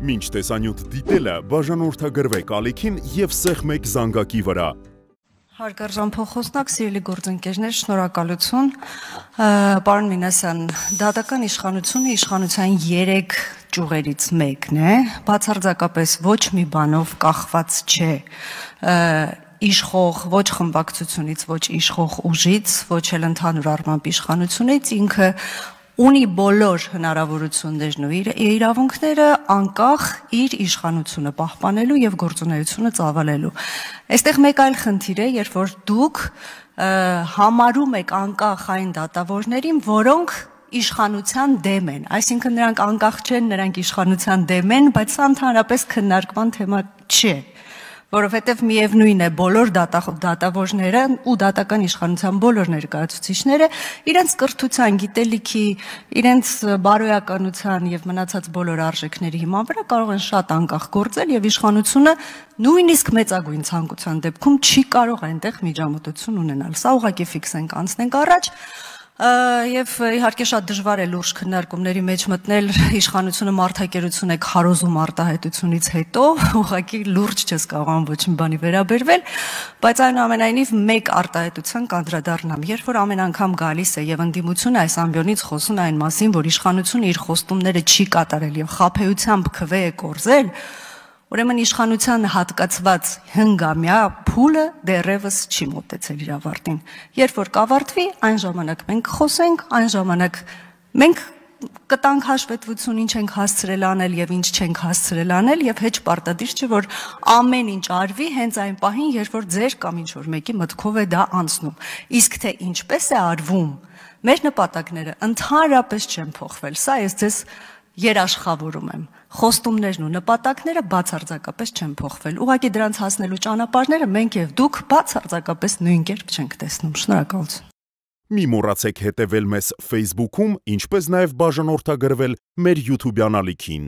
Մինչ տեսանյութ դիտելը բաժանորդագրվեք ալիքին և սեղմեք զանգակի վրա։ Հարգարժան փոխոսնակ, սիրելի գործընկերներ, շնորհակալություն։ Պարոն Մինասյան, դատական իշխանությունը իշխանության 3 ճյուղերից մեկն է, բացարձակապես ոչ մի բանով կախված չէ իշխող ոչ խմբակցությունից, ոչ իշխող ուժից, ոչ էլ ընդհանուր առմամբ իշխանությունից, ինքը ունի բոլոր հնարավորություններն ու իրավունքները անկախ իր իշխանությունը պահպանելու եւ գործունեությունը ծավալելու։ Այստեղ մեկ այլ խնդիր է, երբ որ դուք համարում եք անկախ այն դատավորներին, որոնք իշխանության դեմ են, այսինքն նրանք անկախ չեն, նրանք իշխանության դեմ են, բայց սա ընդհանրապես քննարկման թեմա չէ, որովհետև միևնույն է բոլոր դատավորները ու դատական իշխանության բոլոր ներկայացուցիչները իրենց կրթության, գիտելիքի, իրենց բարոյականության եւ մնացած բոլոր արժեքների հիման վրա կարող են շատ անկախ գործել եւ իշխանությունը նույնիսկ մեծագույն ցանկության դեպքում չի կարող այնտեղ միջամտություն ունենալ։ Սա ուղղակի ֆիքսենք, անցնենք առաջ։ Եվ իհարկե շատ դժվար է լուրջ քննարկումների մեջ մտնել իշխանությունը մարդակերություն է քարոզում արտահայտությունից հետո, ուղղակի լուրջ չես կարողանում ոչ մի բանի վերաբերվել, բայց այնուամենայնիվ մեկ արտահայտության կանդրադառնամ, երբ որ ամեն անգամ գալիս է եւ ընդդիմությունը այս ամբիոնից խոսում է այն մասին, որ իշխանությունը իր խոստումները չի կատարել եւ խաբեությամբ քվե է կորզել, ուրեմն իշխանության հատկացված հնգամյա փուլը դեռևս չի մոտեցել իր ավարտին։ Երբ որ կավարտվի, այն ժամանակ մենք խոսենք, այն ժամանակ մենք կտանք հաշվետվություն ինչ ենք հասցրել անել եւ ինչ չենք հասցրել անել եւ հեչ պարտադիր չէ որ ամեն ինչ արվի հենց այն պահին, երբ որ ձեր կամ ինչ որ մեկի մտքով է դա անցնում։ Իսկ թե ինչպես է արվում, մեր նպատակները ընդհանրապես չեն փոխվել։ Սա ես ձեզ երաշխավորում եմ։ Խոստումներն ու նպատակները բացարձակապես չեն փոխվել։ Ուղղակի դրանց հասնելու ճանապարհները մենք եւ դուք բացարձակապես նույն կերպ չենք տեսնում։ Շնորհակալություն։ Մի մոռացեք հետևել մեզ Facebook-ում, ինչպես նաև բաժանորդագրվել մեր YouTube-յան ալիքին։